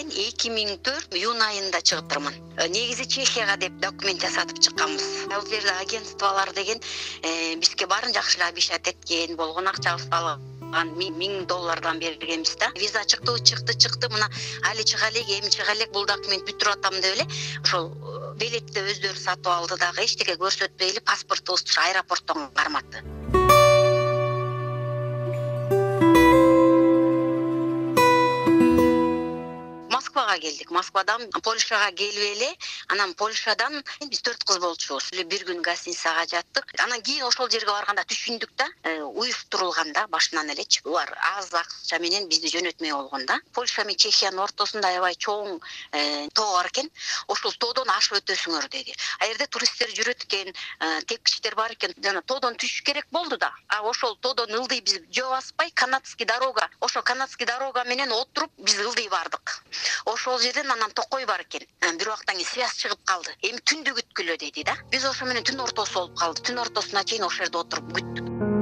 мен 2004 июнь айында чыгыптырмын. Негизи Чехияга деп документ жасатып чыкканбыз. Ал жерде агентстволор деген бизге баарын жакшы эле обещать эткен, болгон акчабызды алып $1000 бергенбиз да. Виза чыкты. Мына али чыга элек, эми чыга элек, бул документ бүтүрүп атам деп эле ошол билетти өздөрү сатып алды дагы, эчтеке көрсөтпөй эле паспортубузду аэропорттон карматты. Москвага келдик. Москвадан Польшага келип эле, анан Польшадан биз 4 кыз болчубуз. Бир күн гостиницага жаттык. Анан кийин ошол жерге барганда түшүндүк да, уюштурулган да башынан элечи. Булар аз акча менен бизди жөнөтмөй болгон да. Польша менен Чехиянын ортосунда аябай чоң тоо бар экен. Ошол тоодон ашып өтөсүңөр деди. А жерде туристтер жүрөт экен, тепкичтер бар экен. Жана тоодон түшүш керек болду да. А ошол тоодон ылдый биз жөө баспай, канадский дорога, ошо канадский дорога менен отуруп биз ылдый бардык. Ошол жерден анан токой бар экен. Бир убактан кийин связь чыгып калды. Эми түндү күткүлө деди да. Биз ошо менен түн ортосу болуп калды. Түн ортосуна чейин ошол жерде отуруп күттүк.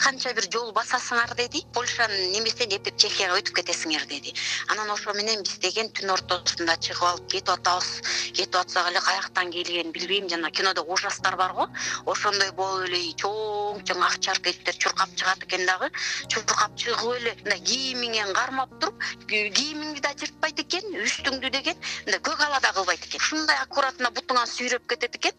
Канча бир жол басасыңар деди. Польшанын немесинен эптеп Чехияга өтүп кетесиңер деди. Анан ошо менен биз деген түн ортосунда чыгып алып кетип атабыз. Кетип атсак эле каяктан келгенин билбейм, жана кинодо ужастар бар го. Ошондой болуп эле чоң акчар кеттер чуркап чыгат экен дагы. Чуркап чыгып эле мындай кийимиңен кармап туруп, кийимиңди да жыртпайт экен, үстүңдү деген мындай көк ала да кылбайт экен. Ушундай аккуратно бутуңан сүйрөп кетет экен.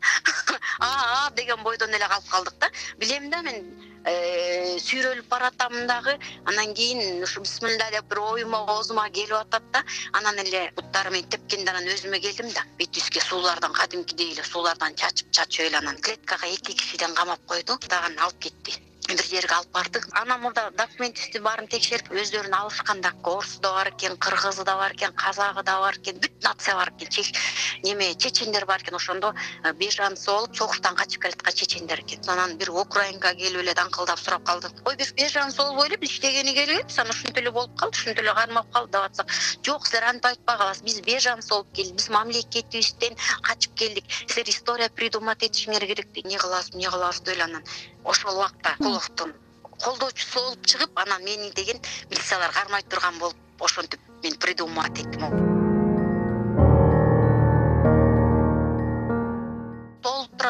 Деген бойдон эле калып калдык да. Билем да мен сүйрөлүп баратам дагы, анан кийин ушу бисмилла деп бир оюма оозума келип атат да, анан эле буттары менен тепкенде анан өзүмө келдим да, бет жүзгө суулардан кадимкидей эле суулардан чачып эле анан клеткага 2 кишиден камап койду, дагы алып кетти. Бир жерге алып бардык. Анан мурда документти баарын текшерип, өздөрүн алышканда орусу да бар экен, кыргызы да бар экен, казагы да бар экен, бүт нация бар экен. Чечендер бар экен, ошондо беженцы болуп согуштан качып келаткан чечендер экен. Анан бир украинка келип эле даңкылдап сурап калды. Ой, биз беженцы болбой эле, биз иштегени келбейбиз, анан ушинтип эле болуп калды, ушинтип эле кармап калды деп атсак, жок, силер антип айтпагыла, биз беженцы болуп келдик, биз мамлекетибизден качып келдик, силер история придумать этишиңер керек дейт. Не кыласыз деп эле анан ошол убакта Куловдун колдоочусу болуп чыгып, анан мени деген милициялар кармай турган болуп, ошентип мен придумать эттим.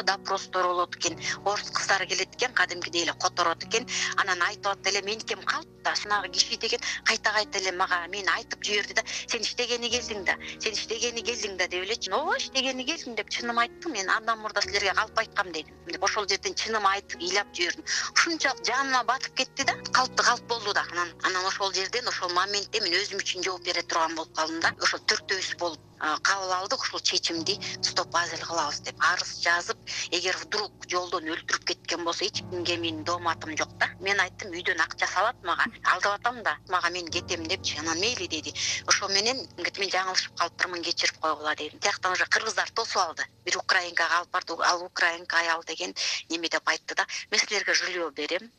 Допростор болот экен, орус кыздары келет экен, кадимкидей эле которот экен. Анан айтып атты эле, меникем калды да, сунагы киши деген кайта эле мага мени айтып жиберди да, сен иштегени келдиң да деп эле. Ооба, иштегени келдим деп чыным айттым. Мен андан мурда силерге калп айткам дедим. Деп ошол жерден чыным айтып, ыйлап жибердим. Ушунчалык жаныма батып кетти да, калп болду да. Анан ошол жерден, ошол моментте мен өзүм үчүн жооп бере турган болуп калдым да. Ошол төртөөбүз болуп кабыл алдык ушул чечимди, стоп азил кылабыз деп арыз жазып, эгер вдруг жолдон өлтүрүп кеткен болсо эч кимге менин дооматым жок да. Мен айттым, үйдөн акча салат мага, алдап атам да, мага мен кетем депчи. Анан мейли деди. Ошо менен мен жаңылышып калыптырмын, кечирип койгула дедим. Тияктан уже кыргыздар тосуп алды. Бир украинкага алып барды, ал украинка аял деген неме деп айтты да. Мен силерге жилье берем,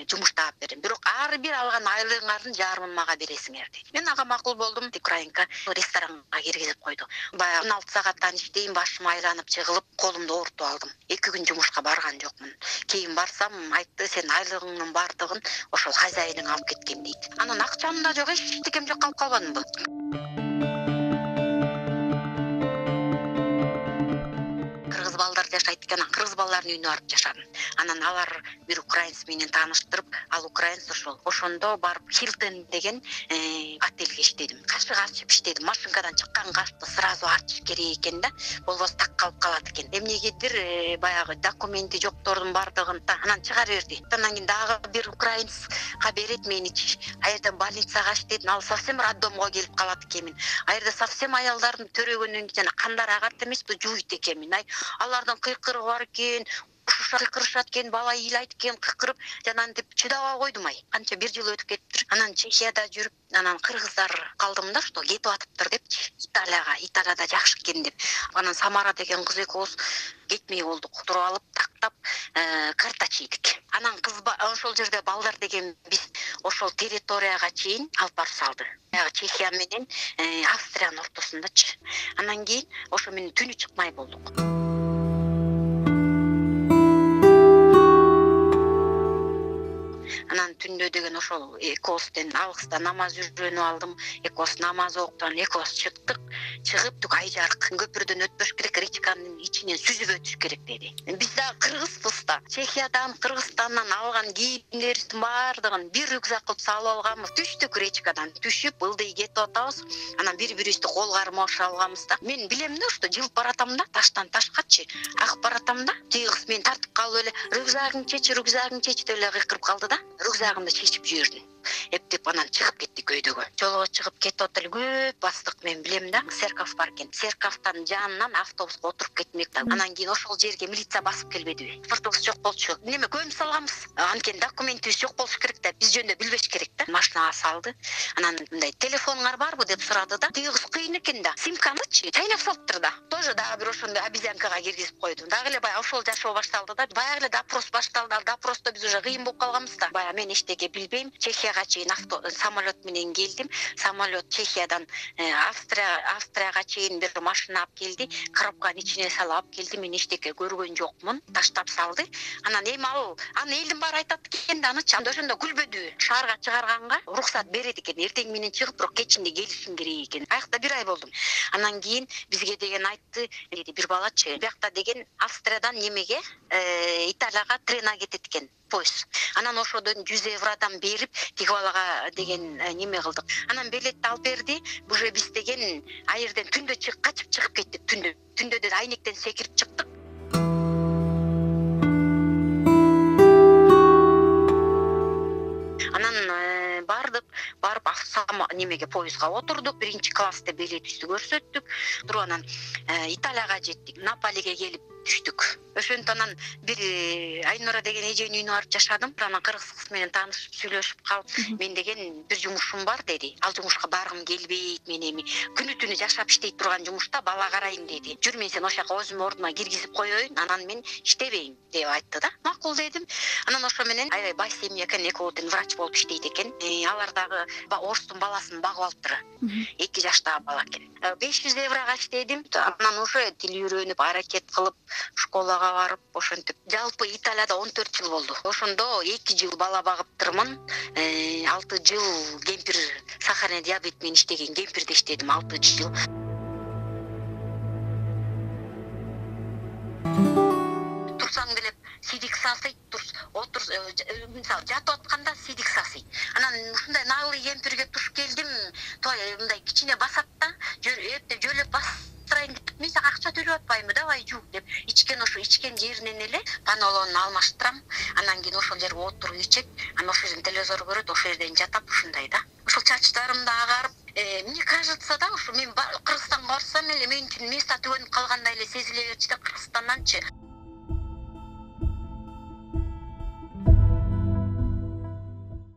жумуш таап берем. Бирок ар бир алган айлыгыңардын жарымын мага бересиңер деди. Мен ага макул болдум. Украинка ресторанга киргизип койду. Баягы 16 сааттан иштейм, башым айланып жыгылып, колумду оорутуп алдым. 2 күн жумушка барган жокмун. Кийин барсам, айтты, сен айлыгыңдын бардыгын ошол хозяиниң алып кеткен дейт. Анан акчам да жок, эчтекем жок, калып калбадымбы? Кыргыз балдар жашайт экен, кыргыз балдардын үйүнө барып жашадым. Анан алар бир украинец менен тааныштырып, ал украинец ошондо барып Хилтон деген отельге иштедим. Кашык ачып иштедим. Машинкадан чыккан кашты сразу ачыш керек экен да, болбосо так калып калат экен. Эмнегедир баягы документи жоктордун бардыгын анан чыгара берди. Андан кийин дагы бир украинецка берет меничи. А жерден больницага иштедим, ал совсем роддомго келип калат экенмин. А жерде совсем аялдардын төрөгөндөн кийин жана кандары агат эмеспи, жуйт экенмин. Алардын кыйкырыгы бар экен, кыйкырышат экен, бала ыйлайт экен, кыйкырып, жана антип чыдабай койдум. Канча бир жыл өтүп кетиптир. Анан Чехияда жүрүп, анан кыргыздар калдым да, что кетип атыптыр депчи. Италияда жакшы экен деп. Анан Самара деген кыз экөөбүз кетмей болдук. Туруп алып, тактап, карта чийдик. Анан ошол жерде балдар деген биз ошол территорияга чейин алып барып салды. Чехия менен Австриянын ортосундачы. Анан кийин ошо менен түнү чыкмай болдук. Анан түндө деген ошол экоостен алгыста намаз үйрөнүп алдым. Экоос намаз окуп, экоос чыгып түк ай жарык. Көпүрдөн өтпөш керек, речканын ичинен сүзүп өтүш керек деди. Биз да кыргызбыз да. Чехиядан, Кыргызстандан алган кийимдерибиздин баардыгын бир рюкзак кылып салып алганбыз. Түштүк речкадан, түшүп ылдый кетип атабыз. Анан бири-бирибизди кол кармашып алганбыз да. Мен билем да, что жылып баратам да, таштан ташкачы агып баратам да. Тиги кыз мени тартып калып эле рюкзагың чеч деп эле кыйкырып калды да. Рюкзагымды чечип жибердим. Эптеп анан чыгып кеттик өйдөгө. Жолго чыгып кетип атып эле көп бастык, мен билем да, церковь бар экен. Церковьтан жанынан автобуска отуруп кетмек да. Анан кийин ошол жерге милиция басып келбедиби? Паспортубуз жок болчу. Неме көмүп салганбыз. Анткени документибиз жок болуш керек да. Биз жөнүндө билбеш керек да. Машинага салды. Анан мындай телефонуңар барбы деп сурады да. Тиги кыз кыйын экен да. Симканычы чайнап салыптыр да. Тоже дагы бир ошондой обезьянкага киргизип койду. Дагы эле баягы ошол жашоо башталды да. Баягы эле допрос башталды. Допросто биз уже кыйын болуп калганбыз да. Баягы мен эчтеке билбейм. Чехияга чейин самолет менен келдим. Самолет Чехиядан Австрияга чейин бир машина алып келди. Коробканын ичине салып алып келди. Мен эчтеке көргөн жокмун. Таштап салды. Анан эми аны элдин баары айтат экен да, анычы анда ошондо күлбөдү. Шаарга чыгарганга уруксат берет экен. Эртең менен чыгып, бирок кечинде келишиң керек экен. Аякта бир ай болдум. Анан кийин бизге деген айтты, деди бир балачы. Биякта деген Австриядан немеге, Италияга трена кетет экен. Поезд. Анан ошодон 100 евродан берип, тиги балага деген неме кылдык. Анан билетти алып берди. Уже биз деген айырден түндө качып чыгып кеттик. Түндө да айнектен секирип чыктык. Анан барып немеге поездга отурдук. 1-класста билетибизди көрсөттүк. Туруп анан Италияга жеттик. Наполиге келип түштүк. Ошентип анан бир Айнура деген эженин үйүнө барып жашадым. Анан кыргыз кыз менен таанышып, сүйлөшүп калып, мен деген бир жумушум бар деди. Ал жумушка баргым келбейт, мен эми күнү-түнү жашап иштей турган жумушта бала карайм деди. Жүр, мен сени ошол жака өзүмдүн ордума киргизип коеюн, анан мен иштебейм деп айтты да. Макул дедим. Анан ошо менен аябай бай семья экен, экөө тең врач болуп иштейт экен. Алар дагы орустун баласын багып алыптыр. 2 жаштагы бала экен. 500 еврога иштедим. Анан уже тил үйрөнүп, аракет кылып, школага барып, ошентип. Жалпы Италияда 14 жыл болду. Ошондо 2 жыл бала багыптырмын. 6 жыл кемпир сахарный диабет менен иштеген кемпирде иштедим 6 жыл. Турсаң делеп сидик сасыйт, мисалы жатып атканда сидик сасыйт. Анан ушундай наглый кемпирге туш келдим. Той мындай кичине басат да, жөлөп бастырайын деп, мен сага акча төлөп атпаймынбы, давай жук деп. Ичкен жеринен эле панолонун алмаштырам. Анан кийин ошол жерге отуруп ичет. Анан ошол жерден телевизор көрөт, ошол жерден жатат ушундай да. Ошол чачтарым да агарып, мне кажется да, ушу мен Кыргызстанга барсам эле мен үчүн место түгөнүп калгандай эле сезиле берчү да, Кыргызстанданчы.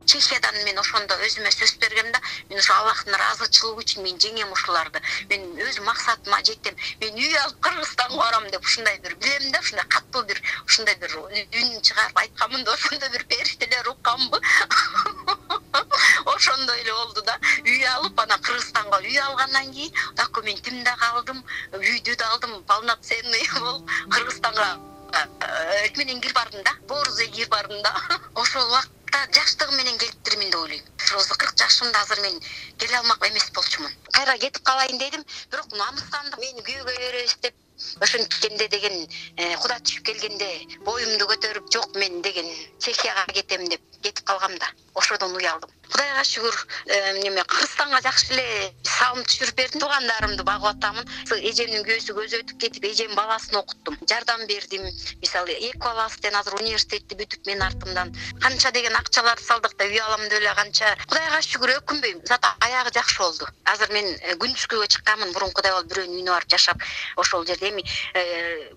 Чехиядан мен ошондо өзүмө сөз бергем да, мен ошо Аллахтын ыраазычылыгы үчүн мен жеңем ушуларды. Мен өз максатыма жеттим. Мен үй алып Кыргызстанга барам деп ушундай бир билем да, ушундай катуу бир ушундай бир үн чыгарып айтканмын да, ошондой бир периштелер укканбы. Ошондой эле болду да. Үй алып, анан Кыргызстанга үй алгандан кийин документимди да алдым, үйдү да алдым, полноценный болуп Кыргызстанга менен кирип бардым да. Борзой кирип бардым да. Ошол жаштыгым менен келиптирмин деп ойлойм. Ошо 40 жашымда азыр мен келе алмак эмес болчумун. Кайра кетип калайын дедим, бирок намыстандым. Мени күйөөгө беребиз деп. Ошенткенде деген Куда түшүп келгенде боюмду көтөрүп, жок мен деген Чехияга кетем деп кетип калгам да. Ошодон уялдым. Кудайга шүгүр, Кыргызстанга жакшы эле салым түшүрүп бердим. Туугандарымды багып атамын. Эжемдин күйөөсү көзү өтүп кетип, эжем баласын окуттум. Жардам бердим. Мисалы, Экваластен азыр университетти бүтүп мен артымдан канча деген акчалар салдык да үй алам деп эле канча. Кудайга шүгүр, өкүнбөйм. Зато аягы жакшы болду. Азыр мен күндүзгүгө чыкканмын, мурункудай болуп бирөөнүн үйүнө барып жашап, ошол жерде эми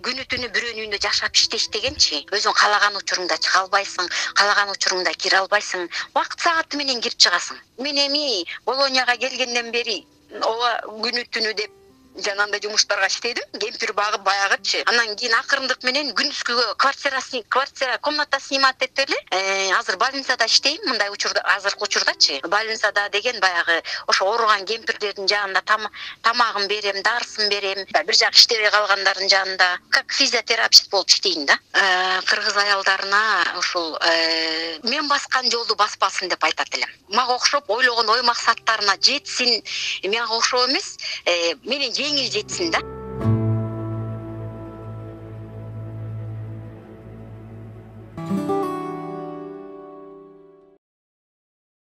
күнү-түнү бирөөнүн үйүндө жашап иштегенчи, өзүң каалаган учуруңда чыга албайсың, каалаган учуруңда кире албайсың. Убакыт сааты менен кирип чыгасың. Мен эми Болонияга келгенден бери ооба күнү-түнү деп жанагындай жумуштарга иштедим, кемпир багып баягычы. Анан кийин акырындык менен күндүзгү квартира комната снимать этип эле азыр больницада иштейм. Мындай учурда, азыркы учурдачы больницада деген баягы ошо ооруган кемпирлердин жанында тамагын берем, дарысын берем. Бир жак иштебей калгандардын жанында как физиотерапевт болуп иштейм да. Кыргыз аялдарына ушул мен баскан жолду баспасын деп айтат элем. Мага окшоп ойлогон ой максаттарына жетсин, мага окшоп эмес, менен жеңил жетсин да.